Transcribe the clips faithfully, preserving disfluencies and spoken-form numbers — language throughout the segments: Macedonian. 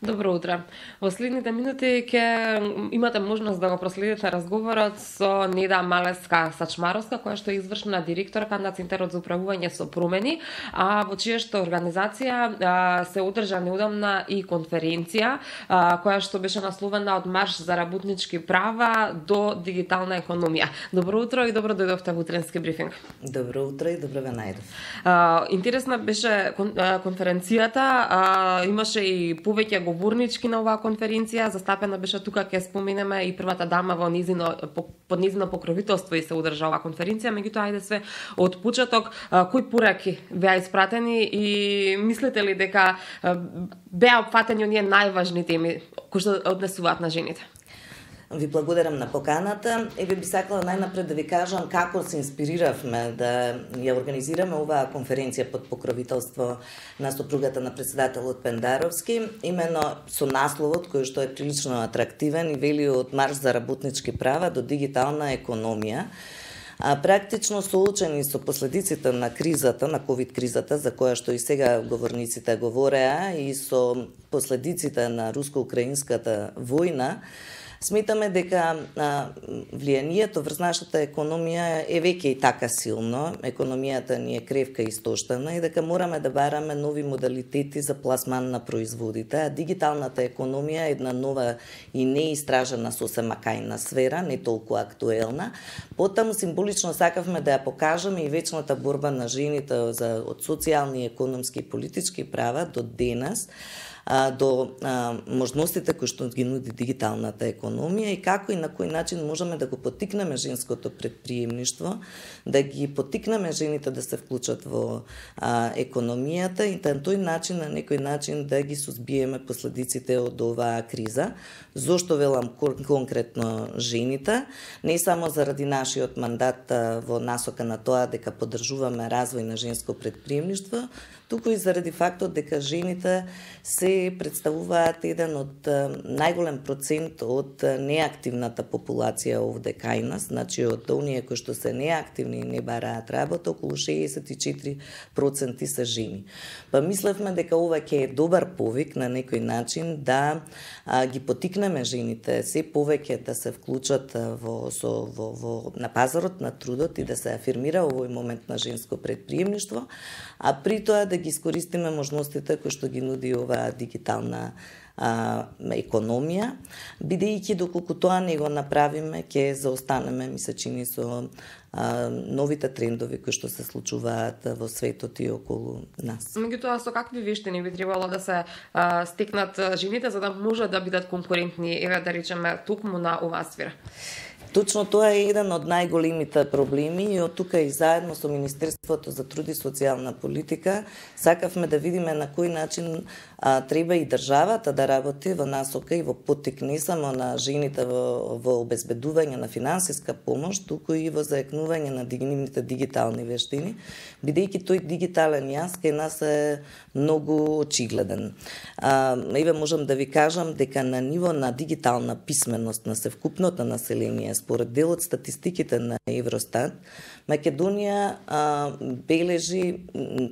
Добро утро. Во следните минути ќе имате можност да го проследите разговорот со Неда Малеска-Сачмаровска, која што е извршна директорка на Центарот за управување со промени, а во чија што организација а, се одржа неодамна и конференција, а, која што беше насловена од Марш за работнички права до дигитална економија. Добро утро и добро дојдовте во утренски брифинг. Добро утро и добро ве најдов. А, интересна беше кон, а, конференцијата, а, имаше и повеќе говорнички на оваа конференција, застапена беше тука, ќе споменеме и првата дама во низино, под низино покровителство и се одржа оваа конференција, меѓутоа ајде све од почеток, кои пораки беа испратени и мислите ли дека беа опфатени оние најважни теми кои што однесуваат на жените? Ви благодарам на поканата и би сакала најнапред да ви кажам како се инспириравме да ја организираме оваа конференција под покровителство на сопругата на председателот Пендаровски, именно со насловот кој што е прилично атрактивен и вели од Марш за работнички права до дигитална економија. А практично соочени со последиците на кризата, на ковид кризата, за која што и сега говорниците говореа, и со последиците на руско-украинската војна, сметаме дека а, влијанието врз нашата економија е веќе и така силно, економијата ни е кревка и истоштена и дека мораме да бараме нови модалитети за пласман на производите, а дигиталната економија е една нова и неистражена сосема кајна сфера, не толку актуелна. Потаму символично сакавме да ја покажеме и вечната борба на жените за од социјални, економски и политички права до денес, до а, можностите кои што ги нуди дигиталната економија и како и на кој начин можеме да го поттикнеме женското предприемништво, да ги поттикнеме жените да се вклучат во а, економијата и на тој начин, на некој начин да ги сузбиеме последиците од оваа криза. Зошто велам конкретно жените? Не само заради нашиот мандат а, во насока на тоа дека поддржуваме развој на женско предприемништво, туку и заради фактот дека жените се представуваат еден од најголем процент од неактивната популација овде кај нас, значи од оние кои што се неактивни и не бараат работа, околу шеесет и четири проценти се жени. Па мислевме дека ова ќе е добар повик на некој начин да а, ги поттикнеме жените се повеќе да се вклучат во, со, во, во, на пазарот на трудот и да се афирмира овој момент на женско предприемништво, а при тоа да ги искористиме можностите кои што ги нуди оваа дигитална а, економија, бидејќи доколку тоа не го направиме, ќе заостанеме, ми се чини, со а, новите трендови кои што се случуваат во светот и околу нас. Меѓутоа, со какви вештини би требало да се а, стекнат жените за да може да бидат конкурентни, еве да речеме, токму на оваа сфера? Точно тоа е еден од најголемите проблеми и од тука и заедно со Министерството за труд и социјална политика сакавме да видиме на кој начин а, треба и државата да работи во насока и во поттик не само на жените во, во обезбедување на финансиска помош, туку и во заекнување на нивните дигитални вештини, бидејќи тој дигитален јас кај нас е многу очигледен. А, еве можам да ви кажам дека на ниво на дигитална писменост на севкупното население, според дел од статистиките на Евростат, Македонија а, бележи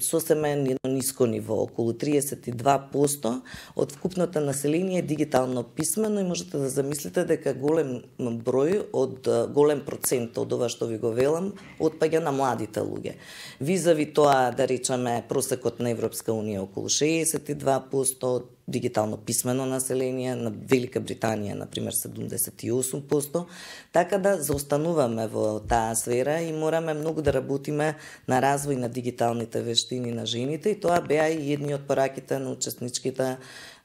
сосема едно ниско ниво, околу триесет и два проценти од вкупното население е дигитално писмено и можете да замислите дека голем број од голем процент од ова што ви го велам отпаѓа на младите луѓе. Визави тоа, да речеме, просекот на Европска унија околу шеесет и два проценти од дигитално писмено население, на Велика Британија, например, седумдесет и осум проценти, така да заостануваме во таа сфера и мораме многу да работиме на развој на дигиталните вештини на жените и тоа беа и едни од пораките на учесничките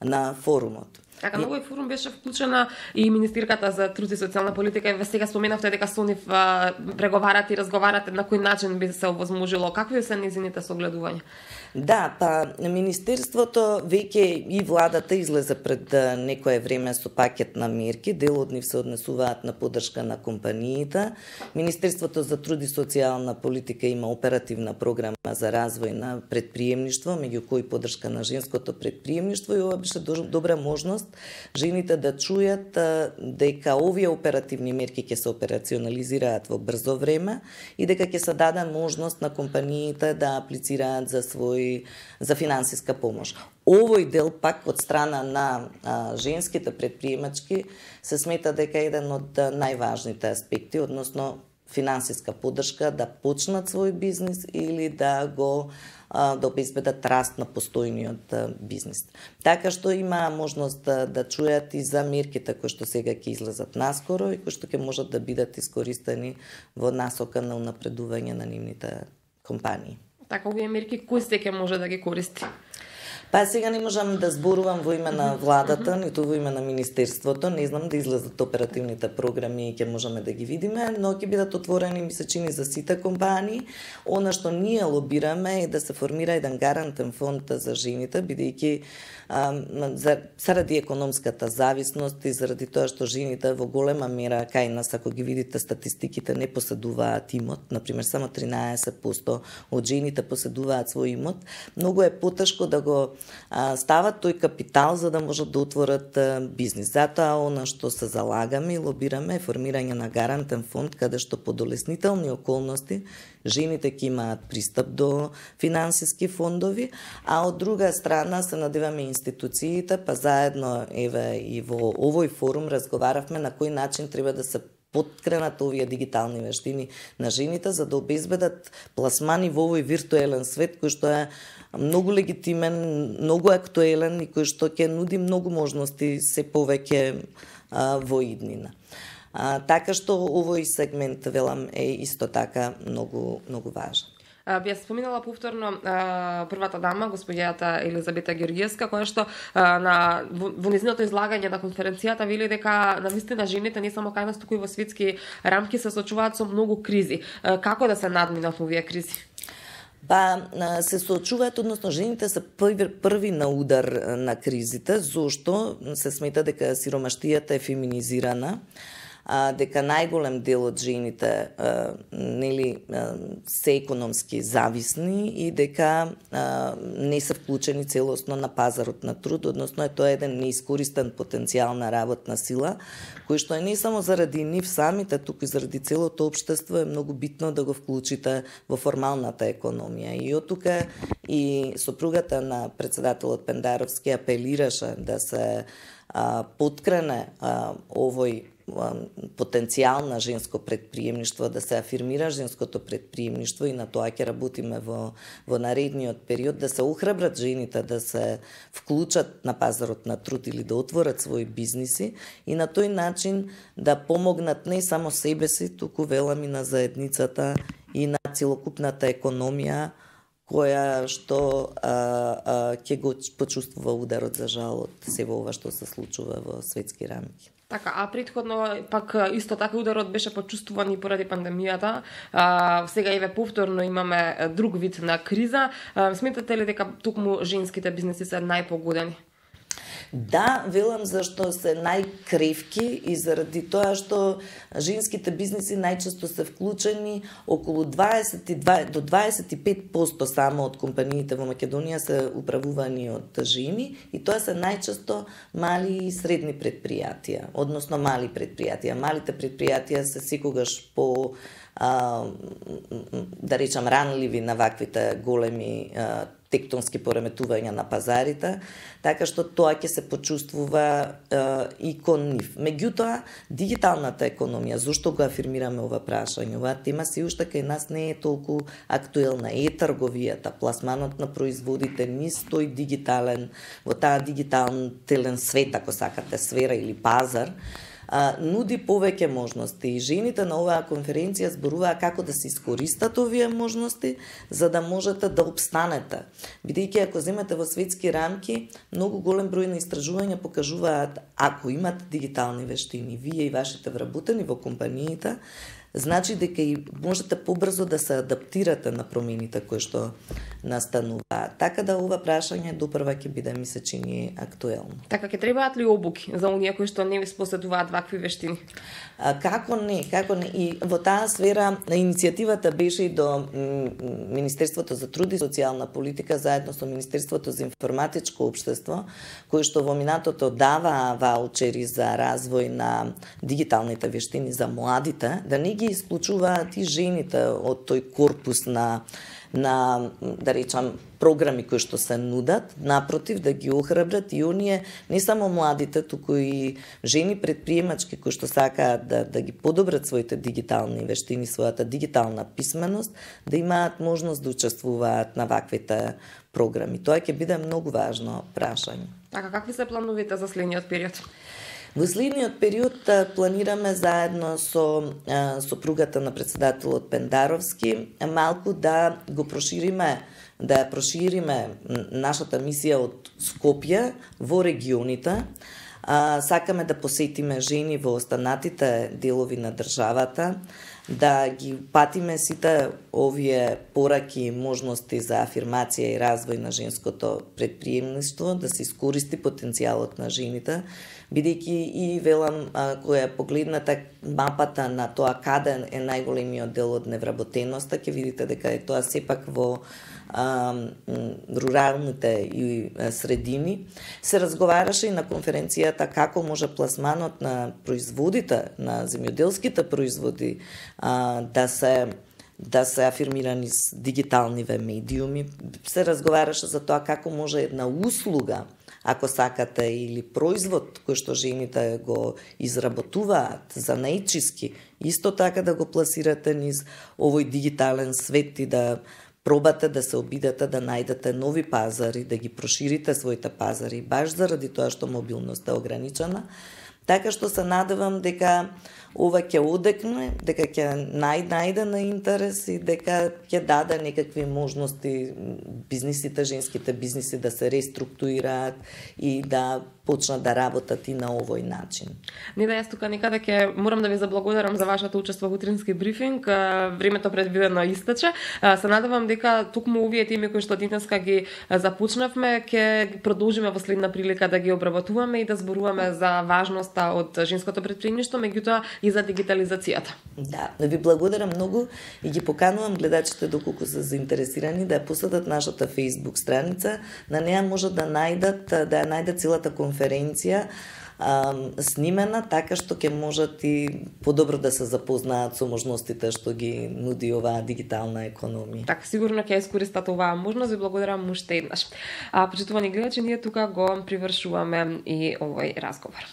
на форумот. Така, на овој форум беше вклучена и Министерката за труд и социјална политика и ве сега споменавте дека со нив преговарате и разговарате на кој начин би се овозможило. Какви се низините согледувања? Да, па Министерството веќе и владата излезе пред некое време со пакет на мерки, дел од нив се однесуваат на поддршка на компаниите. Министерството за труд и социјална политика има оперативна програма за развој на предприемништво, меѓу кои поддршка на женското предприемништво и ова беше добра можност возможност жените да чујат дека овие оперативни мерки ќе се операционализираат во брзо време и дека ќе се даде можност на компаниите да аплицираат за свој за финансиска помош. Овој дел пак од страна на а, женските предприемачки се смета дека е еден од најважните аспекти, односно финансиска поддршка да почнат свој бизнис или да го а, да обезбедат раст на постојниот а, бизнис. Така што има можност да, да чујат и за мерките кои што сега ќе излезат наскоро и кои што ќе можат да бидат искористени во насока на унапредување на нивните компании. Така, овие мерки кој се ќе може да ги користи? Па сега не можам да зборувам во име на владата, ниту во име на министерството, не знам да излезат оперативните програми и ќе можеме да ги видиме, но ќе бидат отворени, ми се чини, за сите компании. Она што ние лобираме е да се формира еден гарантен фонд за жените, бидејќи за, заради економската зависност и заради тоа што жените во голема мера кај нас, ако ги видите статистиките, не поседуваат имот, например само тринаесет проценти од жените поседуваат свој имот, многу е потешко да го а, стават тој капитал за да можат да отворат а, бизнис. Затоа она што се залагаме и лобираме е формирање на гарантен фонд каде што по долеснителни околности жените ќе имаат пристап до финансиски фондови, а од друга страна се надеваме институциите, па заедно еве и во овој форум разговаравме на кој начин треба да се подкренат овие дигитални вештини на жените за да обезбедат пласмани во овој виртуелен свет кој што е многу легитимен, многу актуелен и кој што ќе нуди многу можности се повеќе а, во иднина. А, така што овој сегмент, велам, е исто така многу, многу важен. Би споминала повторно а, првата дама, господјата Елизабета Георгиевска, која што а, на, во, во незиното излагање на конференцијата вели дека навистина жените не само кај нас, туку и во светски рамки се соочуваат со многу кризи. А, како да се надминат овие кризи? Па се соочуваат, односно жените се први, први на удар на кризите, зошто се смета дека сиромаштијата е феминизирана, а, дека најголем дел од жените а, нели а, се економски зависни и дека а, не се вклучени целосно на пазарот на труд, односно е тоа еден неискористен потенцијал на работна сила, кој што е не само заради нив самите, туку и заради целото општество е многу битно да го вклучите во формалната економија. И од тука и сопругата на председателот Пендаровски апелираше да се а, подкрене а, овој потенцијал на женско предприемништво, да се афирмира женското предприемништво и на тоа ќе работиме во, во наредниот период, да се охрабрат жените да се вклучат на пазарот на труд или да отворат своји бизниси и на тој начин да помогнат не само себе си, туку велам и на заедницата и на целокупната економија која што а, а, ќе го почувствува ударот за жал од сево ова што се случува во светски рамки. Така, а претходно пак исто така ударот беше почувствуван и поради пандемијата. А, сега еве повторно имаме друг вид на криза. А, сметате ли дека токму женските бизнеси се најпогодени? Да, велам зашто се најкревки и заради тоа што женските бизнеси најчесто се вклучени, околу дваесет и два до дваесет и пет проценти само од компаниите во Македонија се управувани од жени и тоа се најчесто мали и средни предпријатија, односно мали предпријатија. Малите предпријатија се секогаш по а, да речам ранливи на ваквите големи а, тектонски пореметувања на пазарите, така што тоа ќе се почувствува е, и кон нив. Меѓутоа, дигиталната економија, зошто го афирмираме ова прашање? Оваа тема си уште кај нас не е толку актуелна. Е трговијата, пласманот на производите ни стои дигитален, во таа дигитален свет, ако сакате, сфера или пазар, а, нуди повеќе можности и жените на оваа конференција зборуваа како да се искористат овие можности за да можете да обстанете. Бидејќи ако земете во светски рамки, многу голем број на истражувања покажуваат ако имате дигитални вештини, вие и вашите вработени во компаниите, значи дека и можете побрзо да се адаптирате на промените кои што настануваат. Така да ова прашање допрва ќе биде, ми се чини, актуелно. Така, ќе требаат ли обуки за оние кои што не ви споседуваат вакви вештини? А, како не, како не. И во таа сфера иницијативата беше и до Министерството за труд и социјална политика заедно со Министерството за информатичко општество, кои што во минатото даваа ваучери за развој на дигиталните вештини за младите, да не ги исклучуваат и жените од тој корпус на на, да речам, програми кои што се нудат, напротив, да ги охрабрат и оние, не само младите, туку и жени предприемачки кои што сакаат да, да ги подобрат своите дигитални вештини, својата дигитална писменост, да имаат можност да учествуваат на ваквите програми. Тоа ќе биде многу важно прашање. Така, какви се плановите за следниот период? Во следниот период планираме заедно со сопругата на председателот Пендаровски малку да го прошириме, да ја прошириме нашата мисија од Скопје во регионите. А, сакаме да посетиме жени во останатите делови на државата, да ги патиме сите овие пораки и можности за афирмација и развој на женското предприемништво, да се искористи потенцијалот на жените, бидејќи и велам, која погледнете мапата на тоа каде е најголемиот дел од невработеноста, ќе видите дека е тоа сепак во а, руралните и средини. Се разговараше и на конференцијата како може пласманот на производите, на земјоделските производи а, да се да се афирмирани с дигиталниве медиуми. Се разговараше за тоа како може една услуга, ако сакате, или производ кој што жените го изработуваат за најчиски, исто така да го пласирате низ овој дигитален свет и да пробате да се обидете да најдете нови пазари, да ги проширите своите пазари, баш заради тоа што мобилноста е ограничена. Така што се надевам дека ова ќе одекне, дека ќе нај, најде на интерес и дека ќе даде некакви можности бизнисите, женските бизниси да се реструктурираат и да почнат да работат и на овој начин. Не да јас тука некаде ќе морам да ви заблагодарам за вашето учество во утрински брифинг. Времето предвидено истече. Се надевам дека токму овие теми кои што денеска ги започнавме ќе продолжиме во следна прилика да ги обработуваме и да зборуваме за важноста од женското предприемништво, меѓутоа и за дигитализацијата. Да, да ви благодарам многу и ги поканувам гледачите доколку се заинтересирани да ја посетат нашата Facebook страница. На неа можат да најдат да ја најдат целата конференција а, снимена, така што ќе можат и подобро да се запознаат со можностите што ги нуди оваа дигитална економија. Така, сигурно ќе искористат оваа можност. Ви благодарам уште еднаш. А, почитувани гледачи, ние тука го привршуваме и овој разговор.